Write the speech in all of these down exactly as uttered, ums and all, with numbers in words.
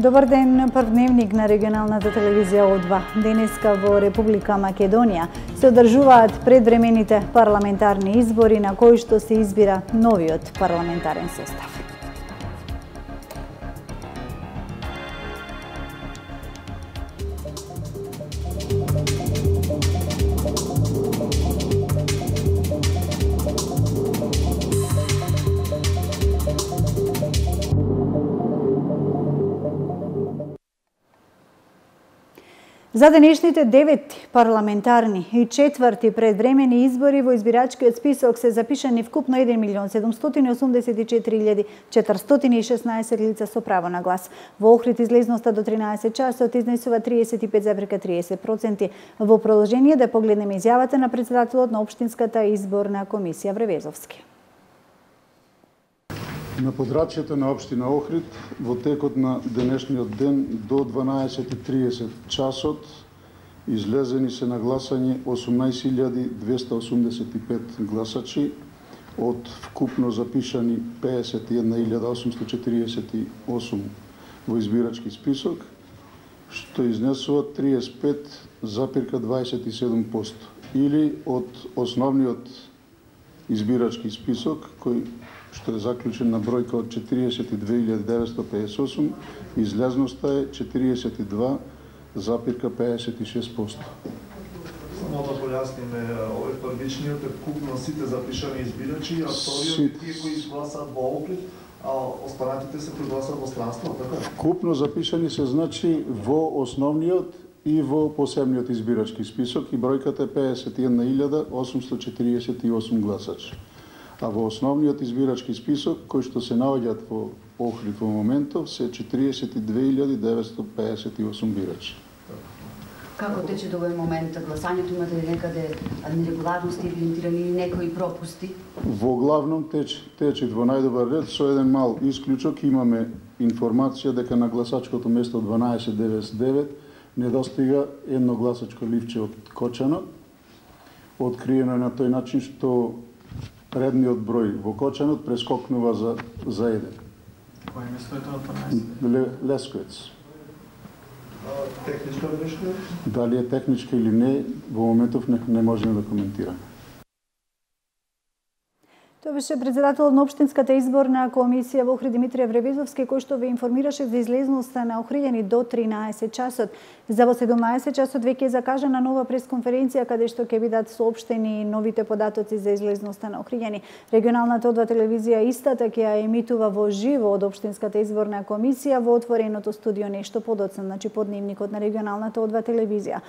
Добар ден, прв дневник на регионалната телевизија О два. Денеска во Република Македонија се одржуваат предвремените парламентарни избори на кои што се избира новиот парламентарен состав. За денешните девети парламентарни и четврти предвремени избори во избирачкиот список се запишани вкупно еден милион седумстотини осумдесет и четири илјади четиристотини и шеснаесет лица со право на глас. Во Охрид излезноста до тринаесет часот изнесува триесет и пет зарез триесет проценти. Во продолжение да погледнеме изјавата на претседателот на Општинската изборна комисија Вревезовски. На подрачјето на општина Охрид во текот на денешниот ден до дванаесет и триесет часот излезени се на гласање осумнаесет илјади двеста осумдесет и пет гласачи од вкупно запишани педесет и една илјада осумстотини четириесет и осум во избирачки список, што изнесува триесет и пет зарез дваесет и седум проценти или од основниот избирачки список кој што е заклучен на бројка од четириесет и две илјади деветстотини педесет и осум, излезноста е четириесет и два зарез педесет и шест проценти. Само да појасниме, овој првичниот е вкупно сите запишани избирачи, а вториот тие кои изгласаат во Охрид, а останатите се пригласаат во странство, така? Вкупно запишани се значи во основниот и во посебниот избирачки список и бројката е педесет и една илјада осумстотини четириесет и осум гласачи. А во основниот избирачки список, кој што се наоѓаат во Охрид во моментов, се четириесет и две илјади деветстотини педесет и осум бирачи. Како тече до овој момент гласањето? Имате ли некаде нерегуларности, евидентирани или некои пропусти? Во главном тече, тече во најдобар ред, со еден мал исклучок имаме информација дека на гласачкото место дванаесет деветдесет и девет недостига едно гласачко ливче од кочанот. Откриено е на тој начин што редниот број во кочанот прескокнува за, за еден. Кој место е тоа дванаесет? Лесковец. Техничка грешка? Дали е техничка или не, во моментов не, не можеме да коментираме. Тоа беше претседателот на Општинската изборна комисија во Охрид Димитрија Вревезовски, кој што ве информираше за излезноста на охриѓани до тринаесет часот. За во седумнаесет часот веќе е закажана нова пресконференција каде што ќе бидат соопштени новите податоци за излезноста на охриѓани. Регионалната О два телевизија истата ќе ја емитува во живо од Општинската изборна комисија во отвореното студио нешто подоцна, значи под дневникот на регионалната О два телевизија.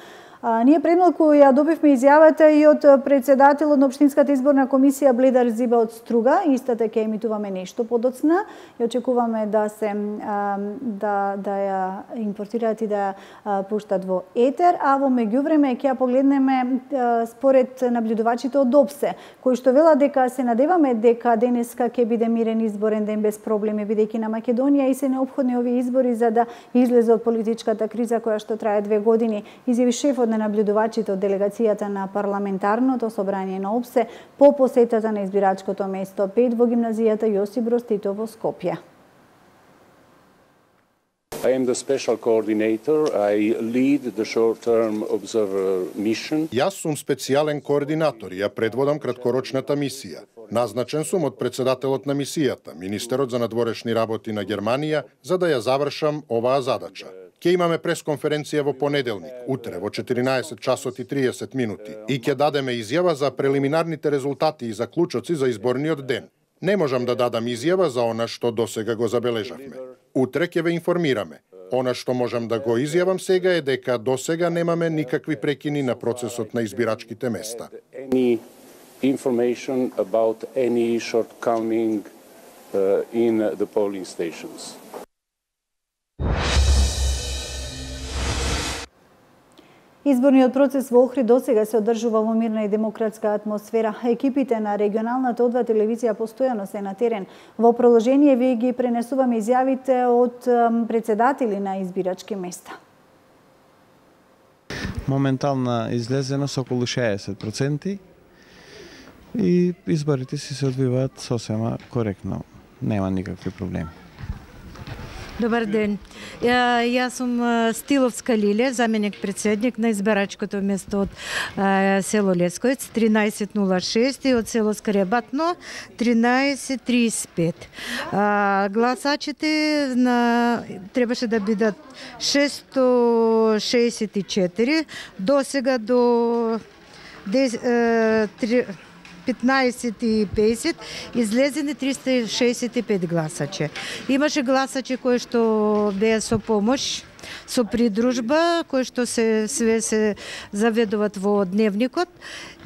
А, ние предмалку ја добивме изјавата и од претседателот на Општинската изборна комисија Бледар Зиба од Струга. Истата ќе емитуваме нешто подоцна и очекуваме да се а, да да ја импортираат и да ја пуштат во етер, а во меѓувреме ќе ја погледнеме а, според наблюдувачите од ОПСЕ, кои што велат дека се надеваме дека денеска ќе биде мирен изборен ден без проблеми, бидејќи на Македонија и се неопходни овие избори за да излезе од политичката криза која што трае две години, изјави шефот на наблюдувачите од делегацијата на парламентарното собрание на ОПСЕ по посетата на избирачкото место пет во гимназијата Јосип Броз Тито во Скопје. I am the special coordinator. I lead the short-term observer mission. Јас сум специјален координатор и ја предводам краткорочната мисија. Назначен сум од претседателот на мисијата, министерот за надворешни работи на Германија, за да ја завршам оваа задача. Ќе имаме пресконференција во понеделник, утре во четиринаесет часот и триесет минути и ќе дадеме изјава за прелиминарните резултати и заклучоци за изборниот ден. Не можам да дадам изјава за она што досега го забележавме. Утре ќе ве информираме. Она што можам да го изјавам сега е дека досега немаме никакви прекини на процесот на избирачките места. Any information about any shortcoming uh, in the polling stations. Изборниот процес во Охрид досега се одржува во мирна и демократска атмосфера. Екипите на регионалната О два телевизија постојано се на терен. Во продолжение ви ги пренесуваме изјавите од претседатели на избирачки места. Моментална излезеност околу шеесет проценти и изборите си се одвиваат сосема коректно. Нема никакви проблеми. Добар ден. Ја, јас сум Стиловска Лиле, заменик председник на избирачкото место од а, село Лесковец тринаесет нула шест и од село Скаребатно тринаесет тридесет пет. А, гласачите на требаше да бидат шестстотини шеесет и четири, до сега до петнаесет и песет излезени триста шеесет и пет гласачи. Имаше гласачи кои што беа со помош, со придружба, кои што се све се заведуваат во дневникот.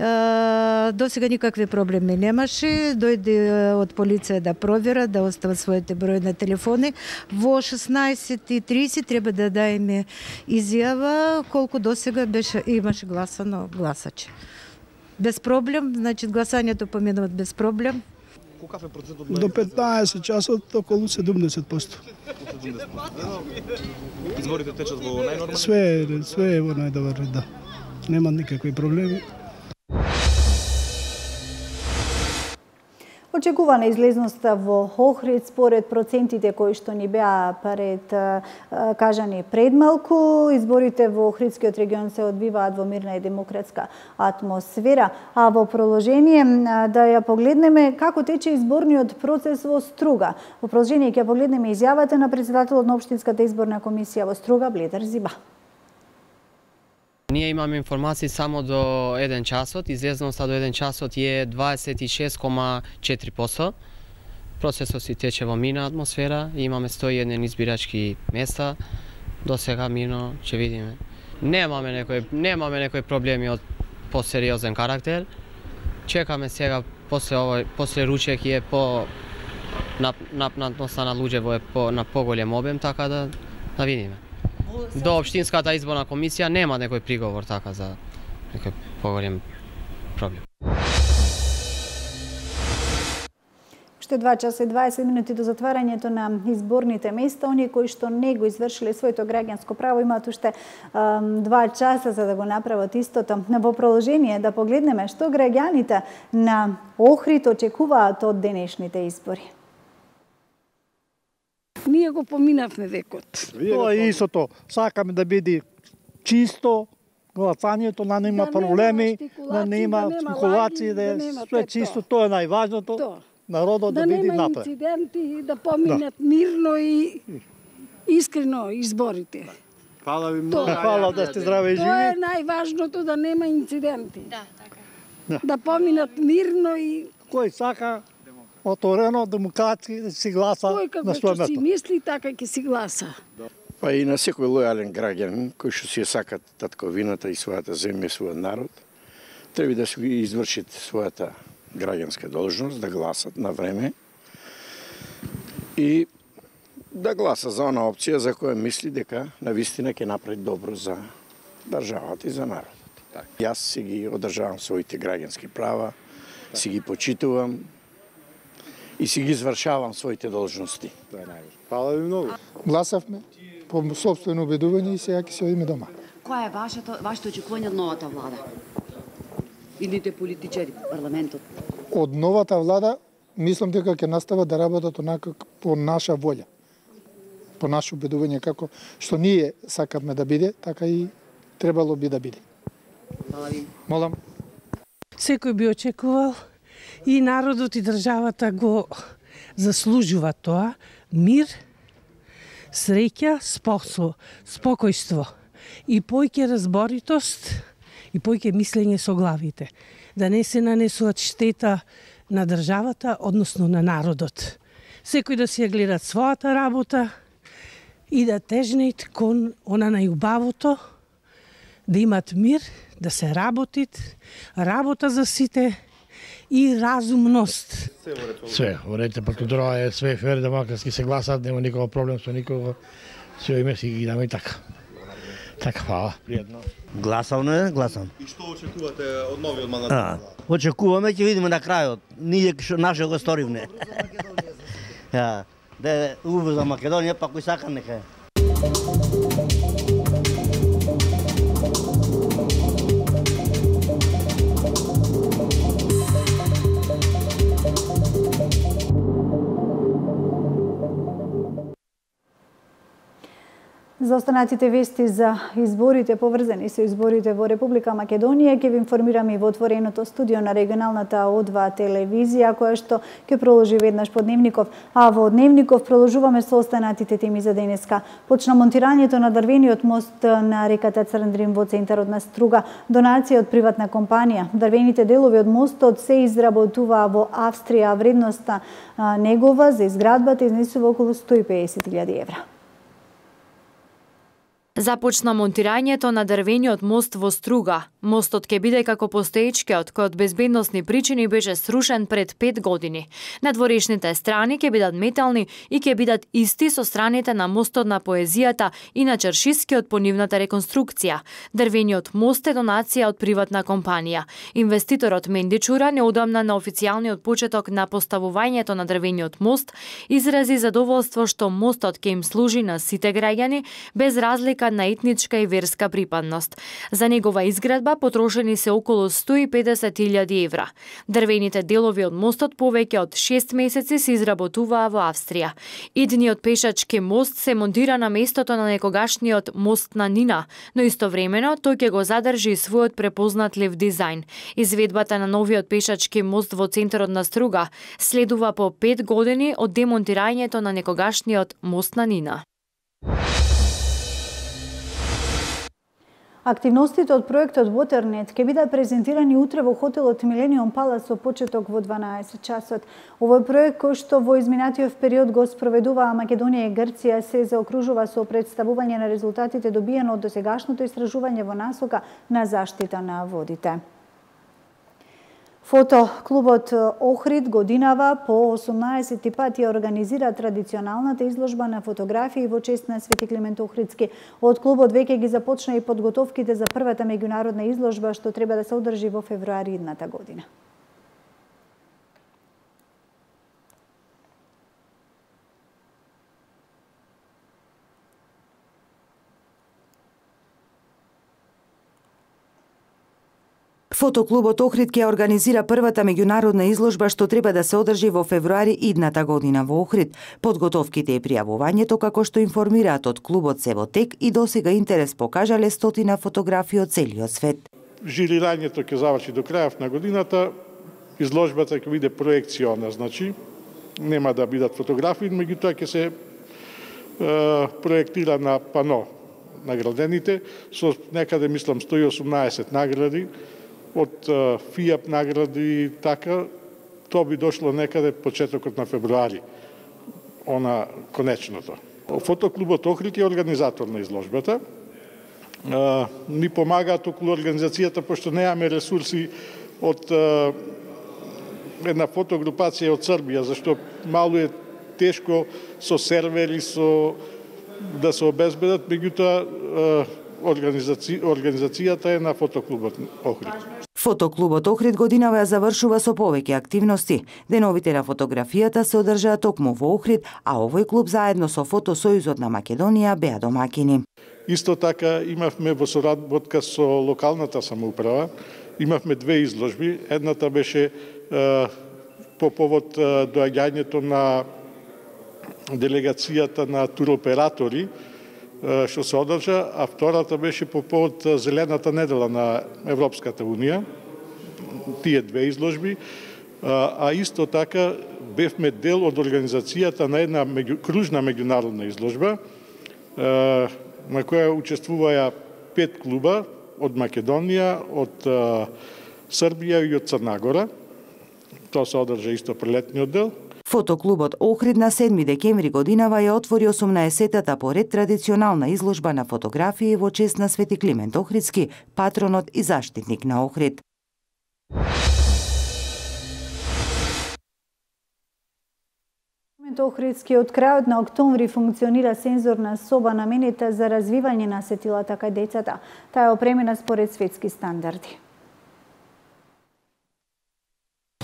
До сега никакви проблеми немаше. Дојде од полиција да провера, да остават своите број на телефони. Во шеснаесет и тридесет треба да даеме изјава колку до сега беше имаше гласано гласачи. Без проблем, значи гласањето поминува без проблем. Колкав е процентот? До петнаесет часот околу седумдесет проценти. Изборите течат во најнормално? Све, све е во најдобар ред, да. Нема никакви проблеми. Очекувана излезноста во Охрид според процентите кои што ни беа пред кажани предмалку. Изборите во Охридскиот регион се одбиваат во мирна и демократска атмосфера, а во продолжение да ја погледнеме како тече изборниот процес во Струга. Во продолжение ќе погледнеме изјавата на председателот на Општинската изборна комисија во Струга Бледар Зиба. Ние имаме информации само до еден часот, излезноста до еден часот е дваесет и шест кома четири проценти. Процесот си тече во мирна атмосфера, имаме сто и еден избирачки места, до сега мирно ќе видиме. Немаме некои немаме некои проблеми од посериозен карактер. Чекаме сега после овој после ручек е по напнатноста на луѓе е по на поголем обем, така да да видиме. До Општинската изборна комисија нема некој приговор така за некој поголем проблем. Уште два часа и дваесет минути до затварањето на изборните места. Оние кои што не го извршиле своето граѓанско право имаат уште um, два часа за да го направат истото. Во продолжение да погледнеме што граѓаните на Охрид очекуваат од денешните избори. Ние го поминавме векот. Тоа е истото. Сакаме да биде чисто, гласањето, да нема проблеми, да нема спекулации, да е све чисто. Тоа е најважното. Народот да биде напред. Да нема инциденти, да поминат мирно и искрено изборите. Фала ви многу. Фала да сте здрави и живи. Тоа е најважното, да нема инциденти. Да, така. Да поминат мирно и кој сака отворено, демократски, да си гласа на своје место. Кој како си мисли, така ќе си гласа. Па и на секој лојален граѓанин, кој што си сакат татковината и својата земја, својот народ, треба да си извршат својата граѓанска должност, да гласат на време и да гласа за она опција за која мисли дека навистина ќе направи добро за државата и за народот. Так. Јас си ги одржавам своите граѓански права, так. Си ги почитувам и си ги извршавам своите должности. Тоа е најважно. Фала ви многу. Гласавме по собствено убедување и сега ќе се одиме дома. Која е вашето вашето очекување од новата влада? Идните политичари, парламентот? Од новата влада мислам дека ќе настават да работат онака по наша волја. По наше убедување како што ние сакаме да биде, така и требало би да биде. Фала ви. Молам. Секој би очекувал и народот и државата го заслужува тоа, мир, среќа, спосо, спокојство и појќе разборитост и појќе мислење со главите, да не се нанесуваат штета на државата, односно на народот. Секој да си ја гледат својата работа и да тежнеат кон она најубавото, да имат мир, да се работит, работа за сите и разумност. Све, во ред, процедура е све фер, демократски се гласат, нема никаков проблем со никого. Све име си ги даме и така. Така, фала. Пријатно. Гласам, не, гласам. И што очекувате од новиот мандат? Очекуваме, ќе видиме на крајот. Ние што наше го сторивме. Ja, да е убаво за Македонија, па кој сака нека е. За останатите вести за изборите поврзани со изборите во Република Македонија ќе ви информираме и во отвореното студио на регионалната О два телевизија, која што ќе проложи веднаш по Дневников, а во Дневников проложуваме со останатите теми за денеска. Почна монтирањето на дрвениот мост на реката Црндрин во центарот на Струга, донација од приватна компанија. Дрвените делови од мостот се изработуваа во Австрија, вредноста негова за изградбата изнесува околу сто и песет илјади евра. Започна монтирањето на дрвениот мост во Струга. Мостот ќе биде како постоечкиот, кој од безбедносни причини беше срушен пред пет години. Надворешните страни ќе бидат метални и ќе бидат исти со страните на мостот на поезијата и на Чершискиот по нивната реконструкција. Дрвениот мост е донација од приватна компанија. Инвеститорот Мендичура неодамна на официјалниот почеток на поставувањето на дрвениот мост изрази задоволство што мостот ќе им служи на сите граѓани без разлика на етничка и верска припадност. За негова изградба потрошени се околу сто и педесет илјади евра. Дрвените делови од мостот повеќе од шест месеци се изработуваа во Австрија. Идниот пешачки мост се монтира на местото на некогашниот мост на Нина, но истовремено тој ќе го задржи својот препознатлив дизајн. Изведбата на новиот пешачки мост во центарот на Струга следува по пет години од демонтирањето на некогашниот мост на Нина. Активностите од проектот Waternet ќе бидат презентирани утре во хотелот Millennium Palace со почеток во дванаесет часот. Овој проект, кој што во изминатиот период го спроведуваа Македонија и Грција, се заокружува со представување на резултатите добиено од досегашното истражување во насока на заштита на водите. Фотоклубот Охрид годинава по осумнаесети пат ја организира традиционалната изложба на фотографии во чест на Свети Климент Охридски. Од клубот веќе ги започна и подготовките за првата меѓународна изложба што треба да се одржи во февруари идната година. Фотоклубот Охрид ќе организира првата меѓународна изложба што треба да се одржи во февруари идната година во Охрид. Подготовките и пријавувањето, како што информираат од клубот, се во тек и досега интерес покажале стотина фотографии од целиот свет. Жирирањето ќе заврши до крајот на годината. Изложбата ќе биде проекциона, значи нема да бидат фотографии, меѓутоа ќе се е, проектира на пано наградените со некаде мислам сто и осумнаесет награди. Од ФИАП награди, така, тоа би дошло некаде почетокот на февруари, она конечното. Фотоклубот Охрид е организатор на изложбата. Ни помагаат околу организацијата, пошто немаме ресурси од една фотогрупација од Србија, зашто мало е тешко со сервери, со да се обезбедат, меѓутоа Организаци... организацијата е на Фотоклубот Охрид. Фотоклубот Охрид годинава ја завршува со повеќе активности. Деновите на фотографијата се одржаа токму во Охрид, а овој клуб заедно со Фотосојузот на Македонија беа домакини. Исто така имавме во соработка со локалната самоуправа, имавме две изложби. Едната беше е, по повод е, доаѓањето на делегацијата на туроператори, што се одржа, а втората беше по повод Зелената недела на Европската Унија, тие две изложби, а исто така бевме дел од организацијата на една меѓу, кружна меѓународна изложба, на која учествуваа пет клуба од Македонија, од Србија и од Црна Гора. Тоа се одржа исто прелетниот дел. Фотоклубот Охрид на седми декември годинава ја отвори осумнаесетата поред традиционална изложба на фотографии во чест на Свети Климент Охридски, патронот и заштитник на Охрид. Охридски од крајот на октомври функционира сензорна соба наменита за развивање на сетилата кај децата. Таа е опремена според светски стандарди.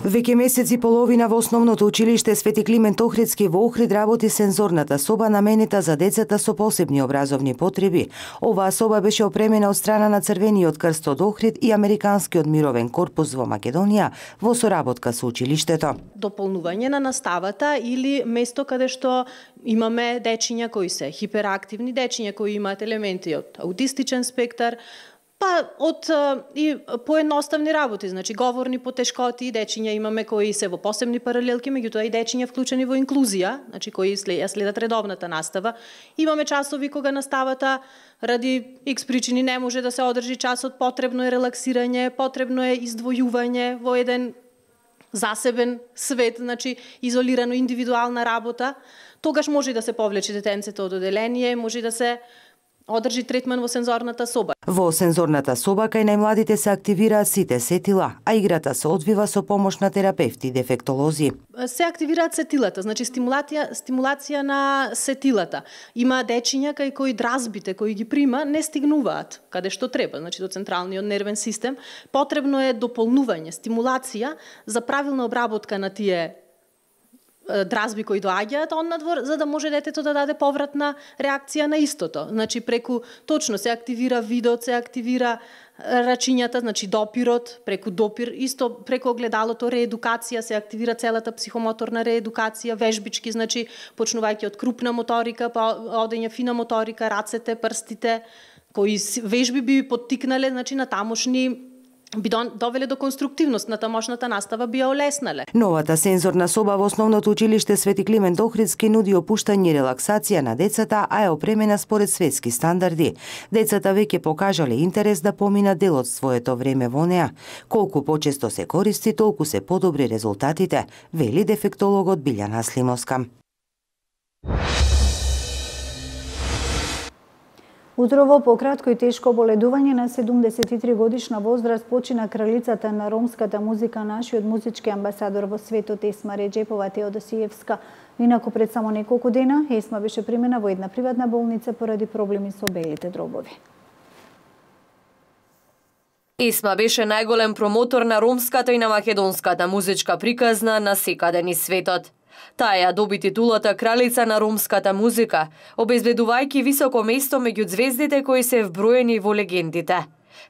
Веќе месец и половина во основното училиште Свети Климент Охридски во Охрид работи сензорната соба наменита за децата со посебни образовни потреби. Оваа соба беше опремена од страна на Црвениот крст од Охрид и Американскиот мировен корпус во Македонија во соработка со училиштето. Дополнување на наставата или место каде што имаме дечиња кои се хиперактивни, дечиња кои имаат елементи од аутистичен спектар, па од и поедноставни работи, значи говорни потешкоти, дечиња имаме кои се во посебни паралелки, меѓутоа и дечиња вклучени во инклузија, значи кои след, следат редовната настава. Имаме часови кога наставата ради икс причини не може да се одржи часот, потребно е релаксирање, потребно е издвојување во еден засебен свет, значи изолирано индивидуална работа. Тогаш може да се повлече детенцето од оделение, може да се одржи третман во сензорната соба. Во сензорната соба кај најмладите се активираат сите сетила, а играта се одвива со помош на терапевти и дефектолози. Се активираат сетилата, значи стимулација, стимулација на сетилата. Има дечиња кај кои дразбите кои ги прима не стигнуваат каде што треба, значи до централниот нервен систем. Потребно е дополнување, стимулација за правилна обработка на тие дразби кои доаѓаат однадвор, за да може детето да даде повратна реакција на истото. Значи преку точно се активира видот, се активира рачињата, значи допирот, преку допир, исто преку огледалото реедукација, се активира целата психомоторна реедукација, вежбички, значи почнувајќи од крупна моторика, па одење фина моторика, рацете, прстите, кои вежби би поттикнале, значи на тамошни би довеле до конструктивност на тамошната настава, би ја олеснале. Новата сензорна соба во основното училиште Свети Климент Охридски нуди опуштање и релаксација на децата, а е опремена според светски стандарди. Децата веќе покажале интерес да поминат дел од своето време во неа. Колку почесто се користи, толку се подобри резултатите, вели дефектологот Билјана Слимовска. Утрово по кратко и тешко боледување на седумдесет и три годишна возраст почина кралицата на ромската музика, нашиот музички амбасадор во светот Есма Реџепова Теодосиевска. Инаку пред само неколку дена Есма беше примена во една приватна болница поради проблеми со белите дробови. Есма беше најголем промотор на ромската и на македонската музичка приказна на секаде низ светот. Таа ја доби титулата кралица на ромската музика, обезбедувајќи високо место меѓу звездите кои се вброени во легендите.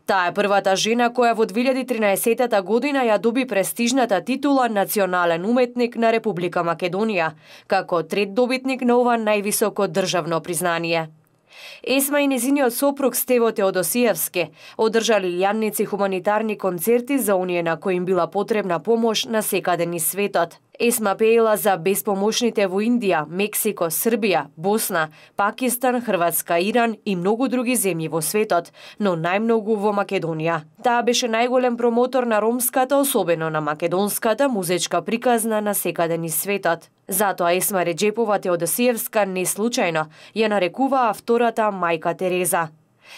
Таа е првата жена која во две илјади и тринаесетта година ја доби престижната титула Национален уметник на Република Македонија, како трет добитник на ова највисоко државно признание. Есма и незиниот сопруг Стево Теодосиевски одржали јанници хуманитарни концерти за оние на кои им била потребна помош на секаде низ светот. Есма пеела за безпомошните во Индија, Мексико, Србија, Босна, Пакистан, Хрватска, Иран и многу други земји во светот, но најмногу во Македонија. Таа беше најголем промотор на ромската, особено на македонската музичка приказна на секаде низ светот. Затоа Есма Реџепова Теодосиевска не случајно ја нарекуваа втората мајка Тереза.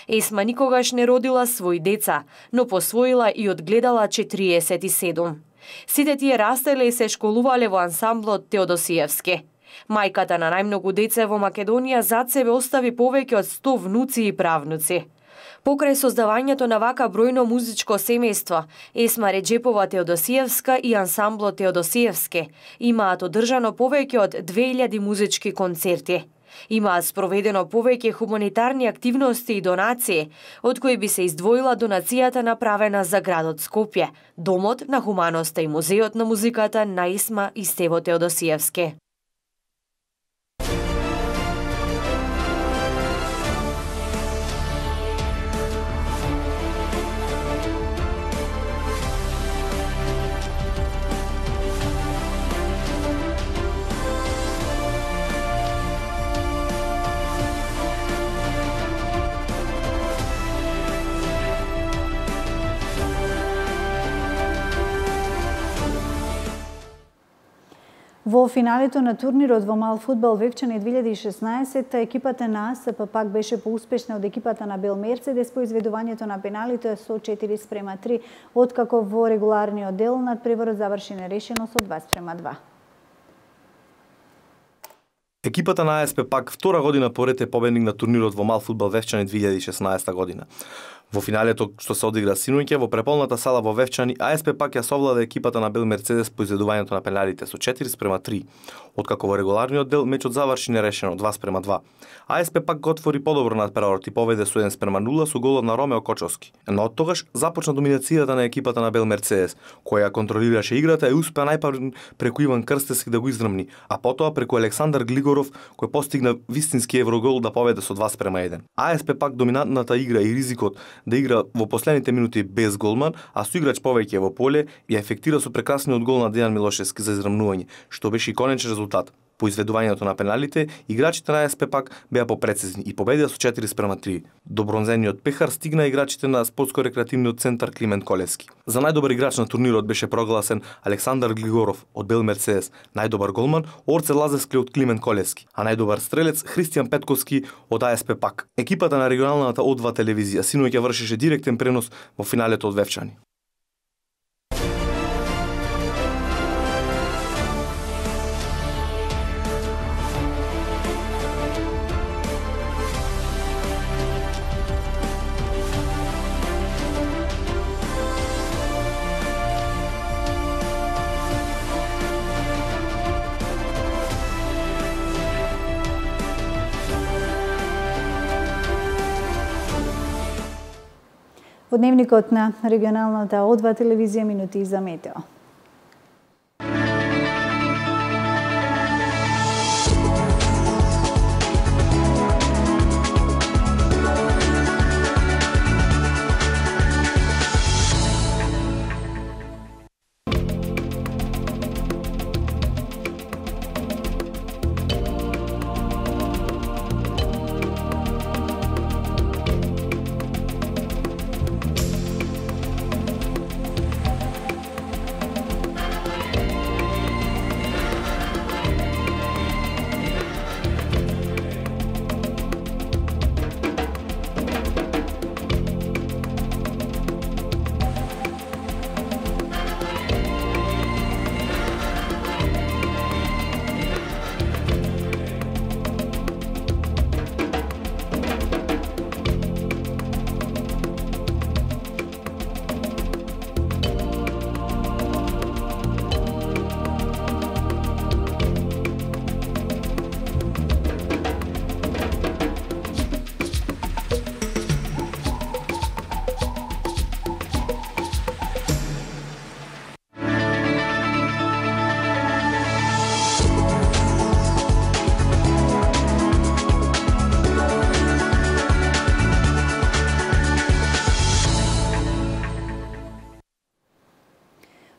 Есма никогаш не родила свои деца, но посвоила и одгледала четириесет и седум. Сите тие растеле и се школувале во ансамблот Теодосиевски. Мајката на најмногу деца во Македонија зад себе остави повеќе од сто внуци и правнуци. Покрај создавањето на вака бројно музичко семејство, Есма Реџепова Теодосиевска и ансамблот Теодосиевски имаат одржано повеќе од две илјади музички концерти. Имаат спроведено повеќе хуманитарни активности и донации, од кои би се издвоила донацијата направена за градот Скопје, Домот на хуманоста и Музеот на музиката на Есма и Стево Теодосиевски. Во финалето на турнирот во мал фудбал Вевчани две илјади и шеснаесетта екипата на АСП пак беше поуспешна од екипата на Бел Мерцедес по изведувањето на пеналите со четири спрема три, откако во регуларниот дел надпреварот заврши нерешено со два спрема два. Екипата на АСП пак втора година поред е победник на турнирот во мал фудбал Вевчани две илјади и шеснаесетта година. Во финалето што се одигра синоќа во преполната сала во Вевчани, АСП пак ја совлада екипата на Бел Мерцедес по изведувањето на пеналите со четири спрема три, откако во регуларниот дел мечот заврши нерешено два спрема два. АСП пак го отвори подобро надпреварот и победе со еден спрема нула со голот на Ромео Кочовски. Но од тогаш започна доминацијата на екипата на Бел Мерцедес, која контролираше играта и успеа најпрво преку Иван Крстевски да го издрмни, а потоа преку Александар Глигоров кој постигна вистински еврогол да победе со два спрема еден. АСП пак доминантната игра и ризикот да игра во последните минути без голман, а со играч повеќе во поле ја ефектира со прекрасниот гол на Дејан Милошевски за израмнување, што беше и конечен резултат. По изведувањето на пеналите, играчите на АСП пак беа попрецизни и победија со четири спрема три. До бронзениот пехар стигна играчите на спортско-рекреативниот центар Климент Колевски. За најдобар играч на турнирот беше прогласен Александар Глигоров од Бел Мерцедес, најдобар голман Орце Лазевски од Климент Колевски, а најдобар стрелец Христијан Петковски од АСП пак. Екипата на регионалната О два телевизија синоќа вршеше директен пренос во финалето од Вевчани. Во дневникот на регионалната О два телевизија минути за метео.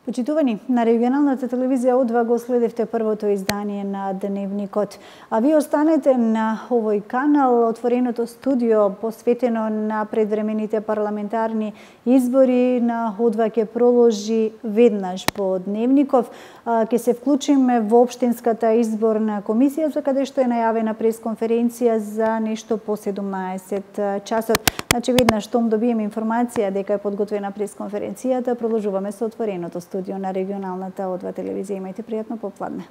Почитувани, на регионалната телевизија О два го следевте првото издание на Дневникот. А ви останете на овој канал, отвореното студио посветено на предвремените парламентарни избори на О два ќе проложи веднаш по Дневников. Ќе се вклучиме во Општинската изборна комисија, за каде што е најавена пресконференција за нешто по седумнаесет часот. Значи, веднаш штом добиеме информација дека е подготвена пресконференцијата, продолжуваме со отвореното студио на регионалната О два телевизија. Имајте пријатно попладне.